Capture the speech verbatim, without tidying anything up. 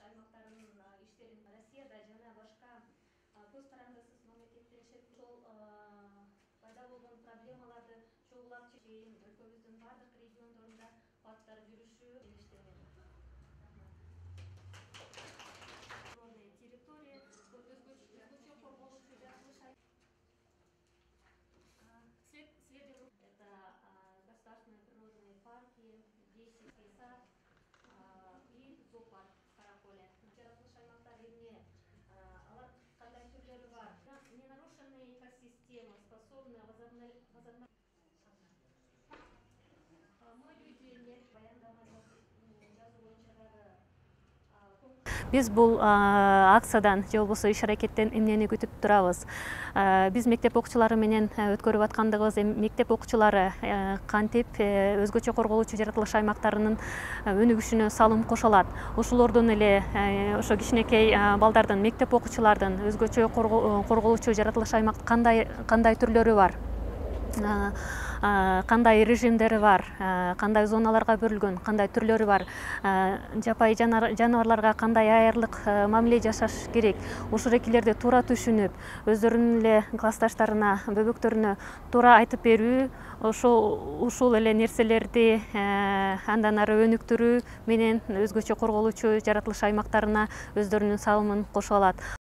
аймактарынын иштерин Россияда жана башка көз карандысыз мамлекеттеришет ошол пайда болгон проблемаларды чогулап чейин өлкөбүздүн бардык региондорунда парктар жүрүшү иштенет. Территория өзгөчө корголуучу жаратылыш это государственные природные парки, Дейсевский сад и зоопарк Караколе. Жаратылыш аймактар эмне? Алар кандай түрлөрү бар? Ненарушенная экосистема, способна возобновить. Мы люди не баяндама жазуу боюнча дагы. Биз бул акциядан же болбосо иш аракеттен эмнени күтүп турабыз? Биз мектеп окуучулары менен өткөрүп аткандыгыбыз, мектеп окуучулары кантип өзгөчө корголуучу жаратылыш аймактарынын өнүгүшүнө салым кошо алат. Ошолордон эле ошо кичинекей балдардын, мектеп окуучулардын өзгөчө корголуучу жаратылыш аймак кандай кандай түрлөрү бар? Кандай режимдери бар, кандай зоналарга бөлүнгөн, кандай түрлөрү бар, жапайы жаныбарларга кандай айрылык мамиле жашаш керек, ушул экилерди туура түшүнүп, өздөрүнүн эле классташтарына, бөбөктөрүнө туура айтып берүү, ошол ушул эле нерселерди андан ары өнүктүрүү менен өзгөчө корголуучу жаратылыш аймактарына өздөрүнүн салымын кошо алат.